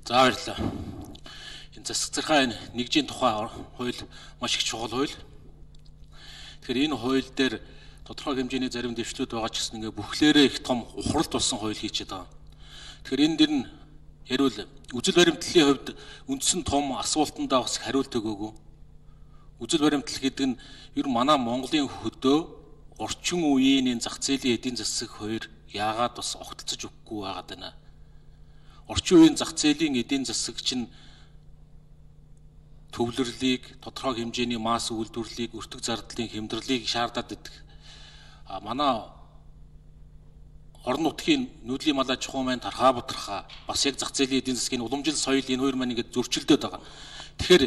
За баярлалаа. Энэ засаг захиргааны нэгжийн тухай хууль маш их чухал хууль. Тэгэхээр энэ хууль дээр тодорхой хэмжээний зарим дэвшлүүд байгаа ч гэсэн ингээ бүхлээрээ их том ухралт болсон хууль хийчихэд байгаа. Тэгэхээр энэ дэр нь ярил үзэл баримтлалын хувьд үндсэн том асуултандаа бас хариулт өгөөгүй. Үзэл баримтлал гэдэг нь ер нь манай Монголын хөдөө орчин үеийн энэ зах зээлийн эдийн засаг хоёр яагаад бас огтлцож өгөхгүй байгаад байна. Орчин үеийн зах зээлийн эдийн засаг чинь төвлөрлийг, тодорхой хэмжээний масс үйлдвэрлэлийг, өртөг зардлын хямдралыг шаардаад байдаг. Манай орон нутгийн нүүдлийн малаа чухам маань тархаа бутархаа бас яг зах зээлийн эдийн засгийн уламжил соёл энэ хоёр маань ингээд зөрчилдөд байгаа. Тэгэхээр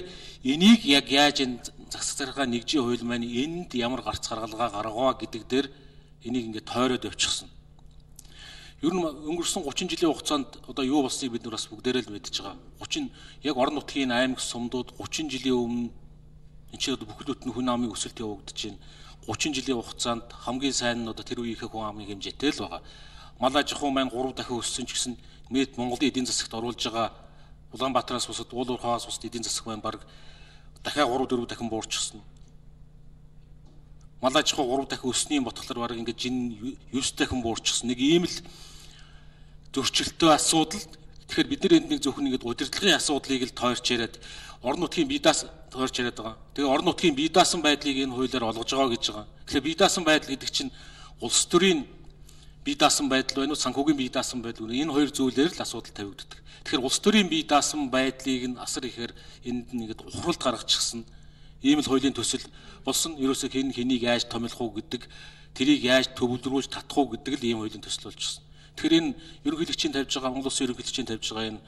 энийг яг яаж энэ засаг захиргааны нэгжийн хууль маань энд ямар гарц гаргалгаа гаргаваа гэдэг дээр энийг ингээд тойроод явчихсан. Ер нь өнгөрсөн 30 жилийн хугацаанд одоо юу болсныг бид нар бас бүгдээрээ л мэдж байгаа. 30 яг орон нутгийн аймаг сумдууд 30 жилийн өмнө энэ чинь бүхлөт нь хүн амын өсөлт явагдаж байна. 30 жилийн хугацаанд хамгийн сайн нь одоо тэр үеийнхээ хүн амын хэмжээтэй л байгаа. Мал аж ахуй маань 3 дахин өссөн ч гэсэн нийт Монголын эдийн засагт оруулж байгаа Улаанбаатараас бусад уул уурхаас бусад эдийн засаг маань баг дахиад 3-4 дахин буурчихсан. Мал аж ахуй 3 дахин өснөний ботхолоор баг ингээд жин 9 дахин буурчихсан. Нэг ийм л зөрчилтөө асуудал. Тэгэхээр бид нар энд нэг зөвхөн ингээд удирдлагын асуудлыг л тойрч яриад орон нутгийн бие даасан тойрч яриад байгаа. Тэгээ орон нутгийн бие даасан байдлыг энэ хуулиар олгож байгаа гэж байгаа. Тэгэхээр бие даасан байдал гэдэг чинь улс төрийн бие даасан байдал байна уу, санхүүгийн бие даасан байдал байна. Энэ хоёр зүйлээр л асуудал тавигддаг. Тэгэхээр улс төрийн бие даасан байдлыг нь асар ихээр энд нэгэд ухралт гаргачихсан. Ийм л хуулийн төсөл болсон. Ерөөсөө хэн хэнийг яаж томилох уу гэдэг, тэрийг яаж төвлөрүүлж татах уу гэдэг л ийм хуулийн төсөл болчихсон. Тэгэхээр энэ ерөнхийлөгчийн тавьж байгаа Монгол Улсын ерөнхийлөгчийн тавьж байгаа энэ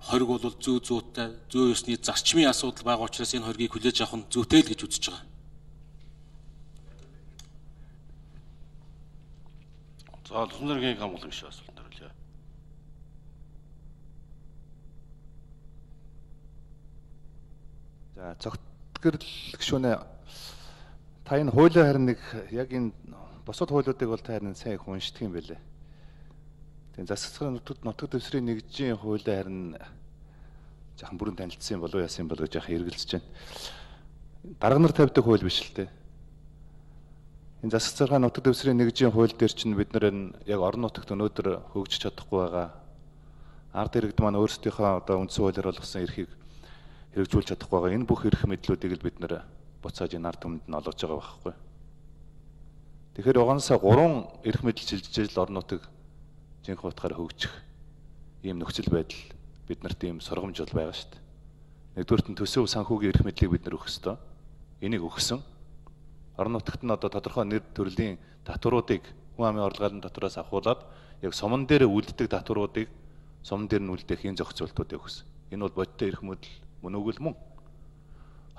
хориг бол зүй зүйтэй, зүй ёсны зарчмын асуудал байгаа учраас энэ хоригийг хүлээж авах нь зүйтэй л гэж үзэж байгаа. За Лухнэргийн хамгаалах шиг асуулт хариулъя. За цогцгэрл гүшүүнэ та энэ хуулийн харин нэг яг энэ бусад хуулиудыг бол та харин сайн их уншдаг юм байлээ. Тэгээ засаг захиргааны нутаг дэвсгэрийн нэгжийн хуулийн харин жаахан бүрэн танилцсан болов яасан болов жаахан эргэлзэж байна. Дарга нар тавьдаг хууль биш л дээ. Энэ засаг захиргааны нутаг дэвсгэрийн нэгжийн хууль дээр чинь бид нар энэ яг орон нутагт өнөөдөр хөгжиж чадахгүй байгаа. Ард иргэд маань өөрсдийнхөө одоо үндсэн хуулиар болгосон эрхийг хэрэгжүүлж чадахгүй байгаа. Энэ бүх эрх мэдлүүдийг л бид нар буцааж энэ ард түмэнд нь олгож байгаа байхгүй. Тэгэхээр угаасаа 3 эрх мэдэл шилжиж л орон нутаг жинхэнэ утгаараа хөгжих ийм нөхцөл байдал биднэрт ийм сургамж бол байгаа шүү дээ. Нэгдүгээрт нь төсөв санхүүгийн эрх мэдлийг бид нар өгөх ёстой. Энийг өгсөн. Орон нутагт нь одоо тодорхой нэр төрлийн татваруудыг хүн амын орлогын татвараас авахуулаад яг суман дээр үлддэг татваруудыг суман дээр нь үлдээх энэ зохицуултуудыг өгсөн. Энэ бол бодиттой эрх мэдэл мөн үгүй л мөн.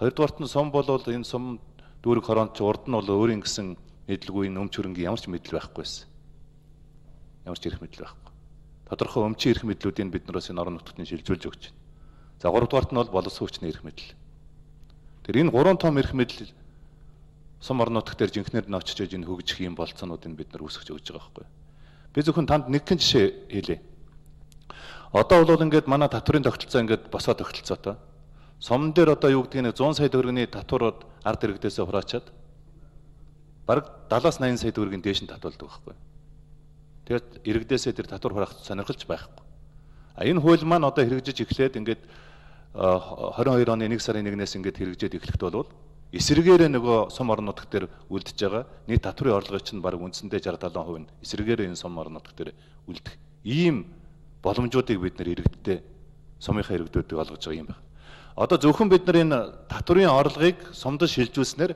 Хоёрдугаарт нь сум бол энэ сум дүүрэг хороонд ч урд нь бол өөрийн гэсэн мэдлгүй өмч хөрөнгийн ямар ч мэдэл байхгүй байсан. Ямар ч эрх мэдэл байхгүй. Тодорхой өмчийн эрх мэдлүүдийг бид нараас энэ орон нутгад нь шилжүүлж өгч байна. За 3 дугаарт нь бол боловсон хүчний эрх мэдэл. Тэр энэ 3 том эрх мэдэл сум орон нутгт дээр жинхнээр нь очиж энэ хөгжих юм болцоонуудыг бид нар үүсгэж өгч байгаа байхгүй. Би зөвхөн танд нэгэн жишээ хэлье. Одоо бол ингээд манай татврын тогтолцоо ингээд босоо тогтолцоотой. Сумн дээр одоо юу гэдгийг 100 сая төгрөгийн татварууд ард иргэдээсээ хураачаад бараг 70-80 сая төгрөгийн дээш нь татвалдаг байхгүй. Тэгээд иргэдээсээ тэр татвар хураах сонирхолж байхгүй. Энэ хууль маань одоо хэрэгжиж эхлээд ингээд 22 оны 1 сарын 1-ээс ингээд хэрэгжээд эхлэхэд бол эсрэгээрээ нөгөө сум орон нутгт дээр үлдэж байгаа нийт татврын орлогын чинь бараг үндсэндээ 60-70% нь эсрэгээрээ энэ сум орон нутгт дээр үлдэх ийм боломжуудыг бид нэр иргэдтэй сумынхаа иргэдүүдийг олгож байгаа юм байна. Одоо зөвхөн бид нар энэ татврын орлогыг сумд шилжүүлснээр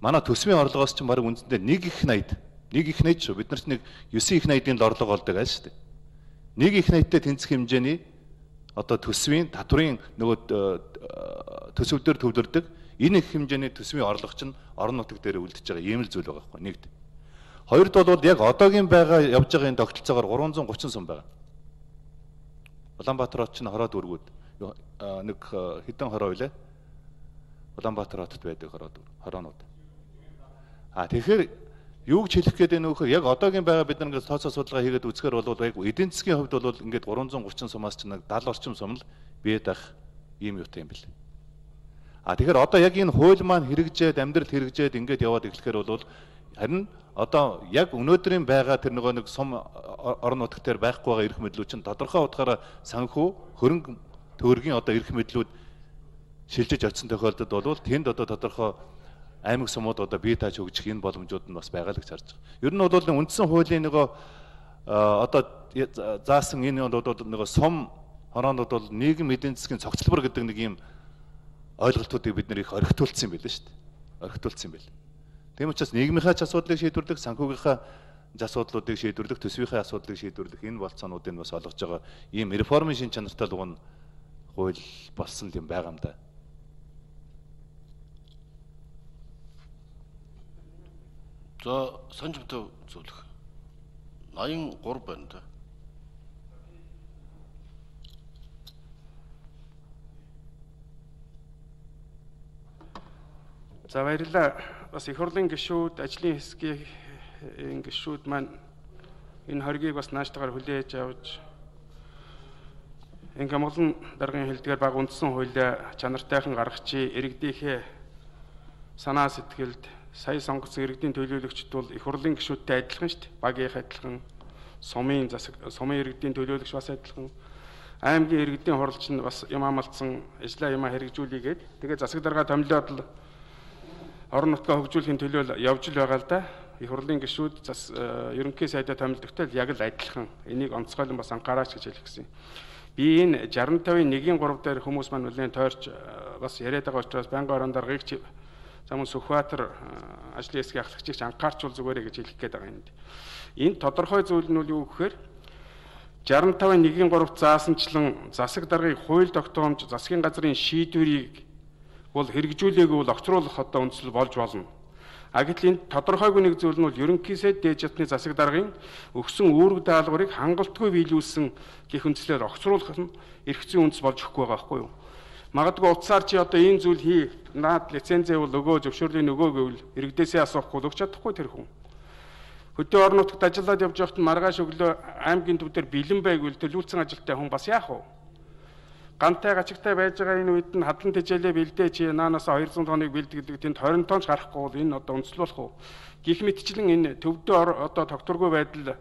манай төсвийн орлогоос чинь бараг үндсэндээ 1 их 80 шүү. Бид нарт нэг 9 их 80-ийн л орлого олдог айл шүү дээ. 1 их 80-тэй тэнцэх хэмжээний одоо төсвийн татврын нөгөө төсөв дээр төвлөрдөг энэ их хэмжээний төсвийн орлого чинь орон нутаг дээр үлдэж байгаа ийм л зүйл байгаа байхгүй нэгд. Хоёрд бол яг одоогийн байгаа явж байгаа энэ тогтолцоогоор 330 сум байгаа. Улаанбаатар хот чинь хороо дүүргүүд нэг хэдэн хороо вэ? Улаанбаатар хотод байдаг хороонууд. Тэгэхээр Юу гэж хэлэх гээд байна вэ гэхээр яг одоогийн байгаа бид нар ингээд тооцоо судалгаа хийгээд үзэхээр бол яг эдийн засгийн хувьд бол ингээд 330 сумаас ч нэг 70 орчим сум л биед ах ийм юутай юм бэл. Тэгэхээр одоо яг энэ хууль маань хэрэгжээд амьдрал хэрэгжээд ингээд яваад эхлэхээр бол харин одоо яг өнөөдрийн байгаа тэр нэг сум орон нутгт дээр байхгүй байгаа эрх мэдлүүд чинь тодорхой утгаараа санхүү хөрөнгө төгрөгийн одоо эрх мэдлүүд шилжиж очсон тохиолдолд бол тэнд одоо тодорхой аймаг сумууд одоо бие тааж өгчих энэ боломжууд нь бас байгаа л гэж харж байгаа. Ер нь бол үндсэн хуулийн нөгөө одоо заасан энэ бол нөгөө сум хороонууд бол нийгэм эдийн засгийн цогцлбор гэдэг нэг юм ойлголтуудыг бид нэр их орхитуулсан юм байл шүү дээ. Орхитуулсан юм байл. Тийм учраас нийгмийнхаа ч асуудлыг шийдвэрлэх, санхүүгийнхаа асуудлуудыг шийдвэрлэх, төсвийнхээ асуудлыг шийдвэрлэх энэ болцоонуудыг бас олгож байгаа ийм реформын шин чанартай луган хууль болсон юм байгаа юм да. За санжимтай зөвлөх 83 байна да. За баярлалаа. Бас их хурлын гишүүд, ажлын хэсгийн гишүүд маань энэ хоргийг бас нааштайгаар хүлээж авч энэ Гямгалан даргын хэлдгээр баг үндсэн хуулиа чанартайхан гаргачи иргэдийнхээ санаа сэтгэлд сая сонгогдсон иргэдийн төлөөлөгчд бол их хурлын гишүүдтэй адилхан шүү дээ. Багийнх адилхан, сумын иргэдийн төлөөлөгч бас адилхан, аймгийн иргэдийн хурлч нь бас юм амлцсан ажлаа юмаа хэрэгжүүлээгээд тэгээ засаг дарга томилоод л орон нутгаа хөгжүүлэхийн төлөө явж л байгаа л да. Их хурлын гишүүд ерөнхий сайдаа томилдогтой яг л адилхан. Энийг онцгойлон бас анхаараач гэж хэлэх гэсэн. Би энэ 65-ын 1-3 дээр хүмүүс маань нэлээд тойрч бас яриад байгаа учраас байнгын орон даргаыг замун Сүхбаатар ажлын хэсгийн ахлагчийг анхаарчвал зүгээрээ гэж хэлэх гээд байгаа юм. Энэ тодорхой зүйл нь юу гэхээр 65-ын 1-3 заасанчлан засаг даргыг хууль тогтоомж засгийн газрын шийдвэрийг бол хэрэгжүүлээгүй бол огцруулах одоо үндсэл болж болно. Гэтэл энэ тодорхойгүй нэг зүйл нь бол ерөнхий сайд дээд жадны засаг даргын өгсөн үүрэг даалгаврыг хангалтгүй биелүүлсэн гэх үндслээр огцруулах нь эрх зүйн үндэс болж өгөхгүй байгаа байхгүй юу? Магадгүй утсаар чи одоо энэ зүйл хий, наад лицензээ бол өгөө, зөвшөөрлийн өгөө гэвэл иргэдээсээ асуухгүй өгч чадахгүй тэр хүн. Хөдөө орон нутагт ажиллаад явж байхад маргааш өглөө аймгийн төв дээр бэлэн байгвал төлөвлөсөн ажилтай хүн бас яах вэ? Гантай гачигтай байж байгаа энэ үед нь хадлан тэжээлээ бэлдээ чи наанаас 200 тоныг бэлддэг тэнд 20 тонч гарахгүй бол энэ одоо үндэслэх үү? Гэх мэтчлэн энэ төвдөө одоо тогтворгүй байдал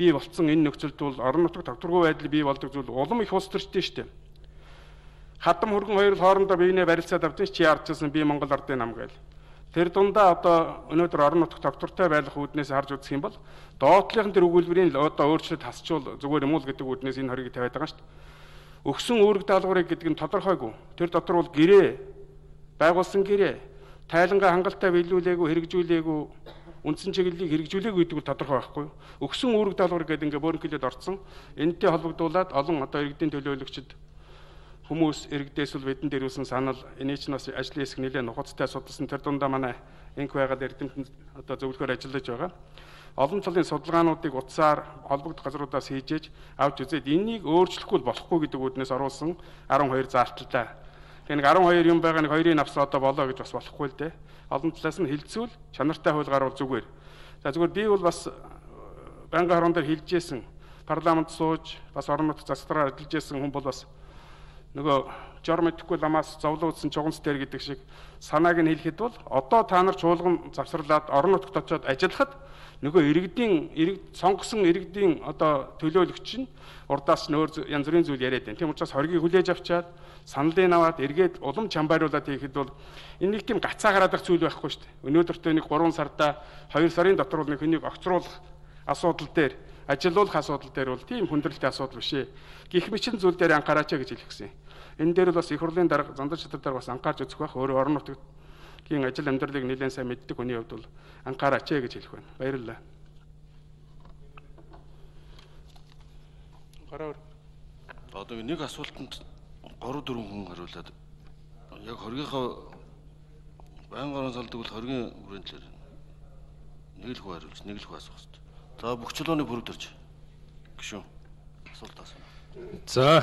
бий болцсон энэ нөхцөлд бол орон нутаг тогтворгүй байдал бий болдог зүйл улам их улс төрчтэй шүү дээ. Хадам хөргөн хоёр хоорондоо биенээ барилцаад авдсан чи яарчсан би Монгол ардын нам гээл. Тэр дундаа одоо өнөөдөр орон нутаг тогтвортой байх үүднээс харж үзэх юм бол доотлынхан тэр өгүүлбэрийн одоо өөрчлөлт хасчвал зүгээр юм уу гэдэг үүднээс энэ хорийг тавиад байгаа шүү дээ. Өгсөн үүрэг даалгаврыг гэдэг нь тодорхойгүй. Тэр дотор бол гэрээ байгуулсан гэрээ тайлангаа хангалттай биелүүлээгүй, хэрэгжүүлээгүй, үндсэн чиглэлийг хэрэгжүүлээгүй гэдэг нь тодорхой байхгүй юу? Өгсөн үүрэг даалгавар гэдэг ингээ бөөрнхөлөд орцсон. Энэтэй холбогдуулаад олон одоо иргэдийн төлөөлөгчд хүмүүс иргэдээс л бидэн дээрүүлсэн санал энийг ч бас ажлын хэсэг нэлээд нухацтай судалсан. Тэр дундаа манай энх байгаад эрдэмтэнд одоо зөвлөхөр ажиллаж байгаа. Олон талын судалгаануудыг утсаар холбогдох газруудаас хийж авч үзээд энийг өөрчлөхгүй болохгүй гэдэг үүднээс оруулсан 12 заалталтай. Тэгэхээр 12 юм байгаа нэг 2-ын авс одоо болоо гэж бас болохгүй л дээ. Олон талаас нь хилцүүл чанартай хууль гарвал зүгээр. За зүгээр би бол бас байнгын хорон дээр хэлжсэн парламент сууж бас орон нутгийн застраар ажиллаж байсан хүн бол бас нөгөө жор мэдхгүй ламаас зовлон үзсэн чуганц дээр гэдэг шиг санааг нь хэлэхэд бол одоо та нар чуулган завсарлаад орон нутагт очиод ажиллахад нөгөө сонгосон иргэдийн одоо төлөөлөгч нь урдаас нь өөр янз бүрийн зүйл яриад байна. Тийм учраас хоргийг хүлээж авчаад саналын аваад эргээд улам чамбайруулаад хийхэд бол энэ нэг тийм гацаа гараад их зүйл байхгүй шүү дээ. Өнөөдөртөө нэг 3 сарда 2 сарын дотор бол нэг хүнийг огцруулах асуудал дээр ажилуулах асуудал дээр бол тийм хүндрэлтэй асуудал биш ээ. Гэх мэт зүйл дээр анхаараач гэж хэлэх гэсэн. Энэ дээр бол бас их хурлын дарга зандар чатар дээр бас анхаарч үзэх байх. Өөрөө орон нутгийн ажил амьдралыг нэлээд сайн мэддэг хүний хувьд бол анхаараач гэж хэлэх байна. Баярлалаа. Гараар. Одоо нэг асуултанд 3-4 хүн хариулаад яг хоргийнхаа байнгын орон салдаг бол хоргийн бүрийн төлөөр нэг л хүн хариулж нэг л хүн асуух хэрэгтэй. За бүх чулууны бүрэг төрж гişүн асуулт асууна. За